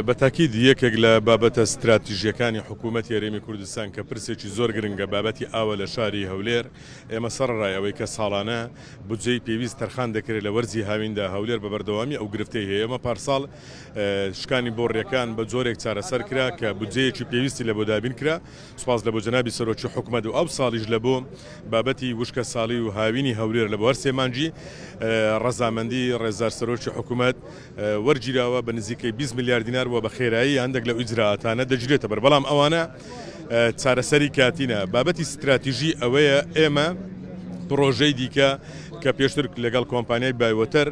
بە تاکید یەکێک لە بابەتە ستراتیژیەکانی حکوومەتی هەرێمی کوردستان کە پرسێکی زۆر گرنگە بابەتی ئاوە لە شاری هەولێر. ئێمە سەرەڕای ئەوەی کە ساڵانە بودجەی پێویست تەرخان دەکرێت لە وەرزی هاویندا هەولێر بە بەردەوامی ئەو گرفتەی هەیە. ئێمە پارساڵ شکانی بۆڕیەکان بە جۆرێک چارەسەر کرا کە بودجەیەکی پێویستی لە بۆ دابین کرا. سوپاس لە بۆ جەنابی سەرۆکی حکومەت و ئەو ساڵیش لە بۆ بابەتی وشکە ساڵی و هاوینی هەولێر لە بۆ هەر سێ مانگی ڕەزامەندی ڕێزدار سەرۆکی حکومەت وەرگیراوە بە نزیکەی 20 ملیار دینار و بە خێرایی هەندێک لەو ئیجرائاتانە دەگیرێتە بەر، بەڵام ئەوانە چارەسەری کاتینە. بابەتی ستراتیژی ئەوەیە ئێمە پڕۆژەی دیکە کە پێشتر لەگەڵ کۆمپانیای بایوەتەر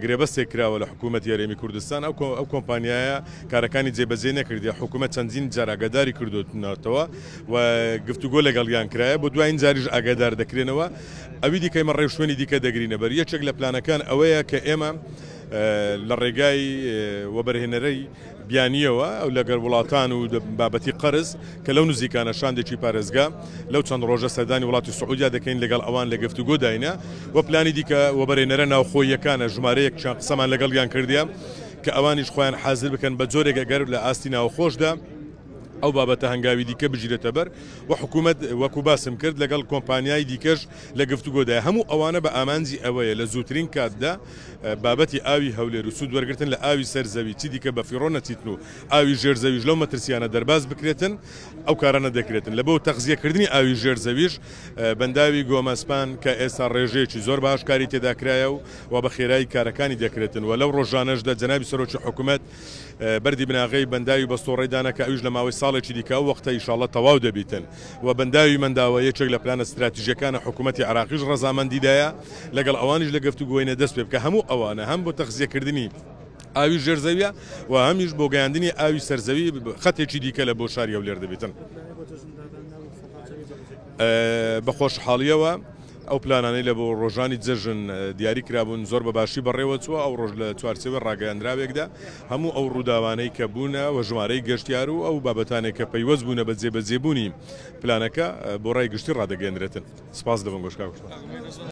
گرێبەستێک کراوە لە حکوومەتی هەرێمی کوردستان، ئەو کۆمپانیایە کارەکانی جێبەجێ نەکردیە، حکوومەت چەندین جار ئاگاداری کردوونەتەوە و گفتوگۆ لەگەڵیان کرایە، بۆ دوایین جاریش ئاگادار دەکرێنەوە. ئەوی دیکە ئێمە ڕێوشوێنی دیکە دەگرینە بەر. یەکێک لە پلانەکان ئەوەیە کە ئێمە لە ڕێگای وەبەرهێنەرەی بیانییەوە ئەو لەگەر وڵاتان و بابەتی قەرز کە لەو نزیکانە شاندێکی پارێزگا لەو چەند ڕۆژە سەردانی وڵاتی سعودیا دەکەین لەگەڵ ئەوان لە گفتوگۆداینە و پلانی دیکە وەبەرهێنەرە ناوخۆییەکانە ژمارەیەک چەند قسەمان لەگەڵیان کردیە کە ئەوانیش خۆیان حازر بکەن بە جۆرێک ئەگەر لە ئاستی ناوخۆشدا ئەو بابەتە هەنگاوی دیکە بگیرێتە بەر و حکوومەت وەکو باسم کرد لەگەڵ کۆمپانیای دیکەش لە گفتوگۆدایە. هەموو ئەوانە بە ئامانجی ئەوەیە لە زووترین کاتدا بابەتی ئاوی هەولێر و سوود وەرگرتن لە ئاوی سەر زەوی چی دیکە بەفیڕۆ نەچیتن و ئاوی ژێر زەویش لەو مەترسیانە دەرباز بکرێتن ئەو کارانە دەکرێتن. لە بۆ تەغزیەکردنی ئاوی ژێر زەویش بەنداوی گۆمەسپان کە ئێستا ڕێژەیەکی زۆر باش کاری تێدا کرایە و و بە خێرایی کارەکانی دەکرێتن و لەو ڕۆژانەشدا جەنابی سەرۆکی حکومەت بەردی بناغەی بەنداوی بەستۆڕەی دانا کە ئەویش لە ماوەی ساڵێکی دیکە ئەو وەختە ئیشاڵڵە تەواو دەبیتن و بەنداوی مەنداوە یەکێک لە پلانە ستراتیژیەکانە حکوومەتی عێراقیش ڕەزامەندی دایە لەگەڵ ئەوانیش لە گەفتوگۆینە دەست پێ بکە هەموو ئەوانە هەم بۆ تەخزیەکردنی ئاوی ژێر زەویە و هەمیش بۆ گەیاندنی ئاوی سەرزەوی خەتێکی دیکە لە بۆ شاری هەولێر دەبیتن. بە خۆشحاڵیەوە ئەو پلانانەی لە بۆ ڕۆژانی جەژن دیاری کرابوون زۆر بە باشی بەڕێوەچووە، ئەو ڕۆژ لە چوارچێوەی ڕاگەیاندراوێکدا هەموو ئەو ڕووداوانەی کە بوونە و ژمارەی گەشتیار و ئەو بابەتانەی کە پەیوەست بوونە بە جێبەجێبوونی پلانەکە بۆ ڕای گشتی ڕادەگەیەنرێتن. سپاس لە بەنگۆش کاک وشتان.